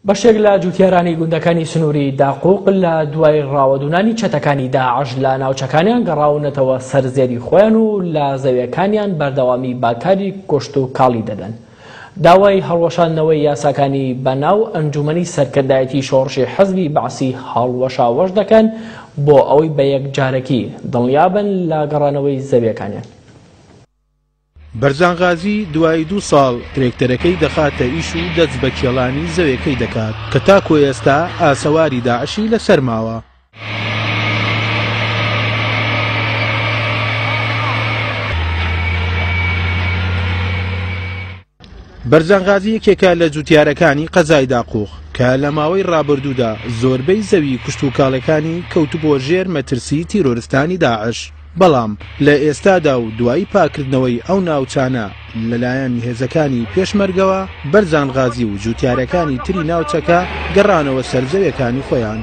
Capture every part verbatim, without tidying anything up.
بەشێک لە جوتیارانی گوندەکانی سنووری داقوق لە دوای ڕاوەدوونانی چەتەکانی داعش لە ناوچەکانیان گەڕاونەتەوە سەر زێدی خۆیان و لە زەویەکانیان بەردەوامی باکاری کۆشت و کاڵی دەدەن. داوای هەڵوەشاندنەوەی یاساکانی بەناو ئەنجومەنی سەرکردایەتی شۆڕشی حەزبی بەعسی هەڵوەشاوەش دەکەن بۆ ئەوەی بە یەکجارەکی دڵنیابن لە گەڕانەوەی زەویەکانیان. بەرزان غازی دوای دوو ساڵ ترێکتەرەکەی دەخاتە ئیش و دەست بە کێڵانی زەویەکەی دەکات کە تاکو ئێستا ئاسەواری داعشی لەسەر ماوە. بەرزان غازی یەکێکە لە جوتیارەکانی قەزای داقوق کە لە ماوەی ڕابردوودا زۆربەی زەوی کوشت و کاڵەکانی کەوتبووە ژێر مەترسی تیرۆرستانی داعش، بەڵام لە ئێستادا و دوای پاکردنەوەی ئەو ناوچانە لەلایەن هێزەکانی پێشمەرگەوە بەرزان غازی و جوتیارەکانی تری ناوچەکە گەڕانەوە سەر زەویەکانی خۆیان.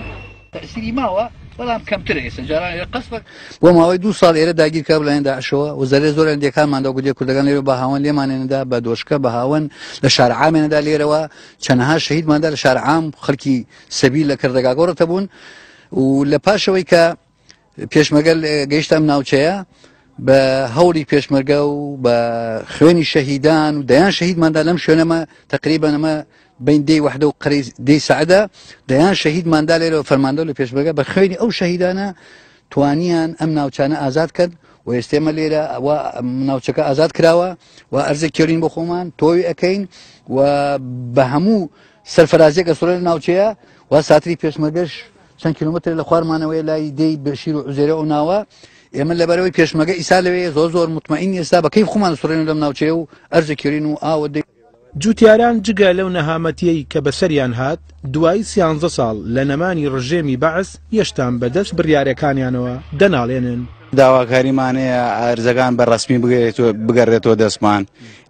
تەئسیری ماوە بەڵام کەمترە ئێستا جاران ئێرە قەسفە بۆ ماوەی دوو ساڵ ئێرە داگیر کرا لەلایەن داعشەوە و زەرێ زۆر لەندێکانماندا گودێ کوردەکان لێرە بە هاوەن لێمانێنەدا بە دۆشکە بە هاوەن لە شار عامێنەدا لێرەوە چەنەها شەهیدماندا لە شار عام خەڵکی سەبیل لە کردەگاگۆڕەتە بوون و لە پاشەوەی کە پێشمەرگە گەیشتە ئەم ناوچەیە بە هەوڵی پێشمەرگە و بە خوێنی شەهیدان و دەیان شەهیدماندا لەم شوێنەمە تقریبا ئەمە بین دێی وەحدە و قەرەی دێی سەعدە دەیان شەهیدماندا لێرەوە فەرماندە لە پێشمەرگە بە خوێنی ئەو شەهیدانە توانیان ئەم ناوچانە ئازاد کرد و ئێستێمە لێرە ناوچەکە ئازاد کراوە و ئەرزێک کێرین بۆ خۆمان تۆوی ئەەکەین و بە هەموو سەرفرازیەکە سوڕە لە ناوچەیە و ساتری پێشمەرگەش چەند کیلۆمەتر لە خوارمانەوەی لای دێی بەشیر و عوزێرە ئەو ناوە ئێمە لەبەرەوەی پێشمەرگە ئیسا لەوێ زۆر زۆر مطمئین ئێستا بە کەیف خۆمان سوڕێن لەم ناوچەیە و ئەرزە کێرین و ئاوە دەی. جوتیاران جگە لەو نەهامەتیەی کە بەسەریان هات دوای سیانزە ساڵ لە نەمانی ڕژێمی بەعس یەشتان بەدەست بڕیارەکانیانەوە دەناڵێنن. داواکاریمانەیە ئەرزەکان بە ڕەسمی بگەڕێتەوە دەستمان.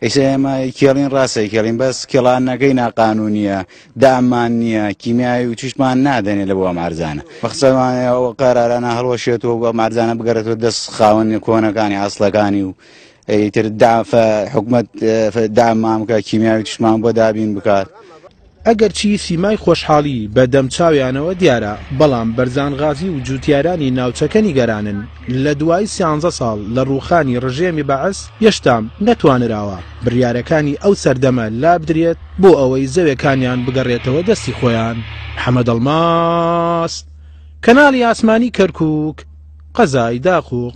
ئێستا ئێمە کێڵین ڕاستە کێڵین بەس کێڵانەکەی ناقانونیە، دامان نییە، کیمیایی و چیشمان نادەنێ لە بۆ ئەم ئەرزانە. بەخسەمانەیە ئەو قەرارانە هەڵوەشێتەوە و ئەم ئەرزانە بگەڕێتەوە دەست خاوەنی کۆنەکانی ئەسڵەکانی و ئیتر حکومەت دامان بکات کیمیاوی تشمان بۆ دابین بکات. ئەگەرچی سیمای خۆشحاڵی بە دەمچاویانەوە دیارە، بەڵام بەرزان غازی و جوتیارانی ناوچەکە نیگەرانن لە دوای سیانزە ساڵ لە ڕووخانی ڕژێمی بەعس یەشتام نەتوانراوە بڕیارەکانی ئەو سەردەمە لابدرێت بۆ ئەوەی زەوێکانیان بگەڕێتەوە دەستی خۆیان. محەممەد ئەڵماس، کەناڵی ئاسمانی کەرکووک، قەزای داقوق.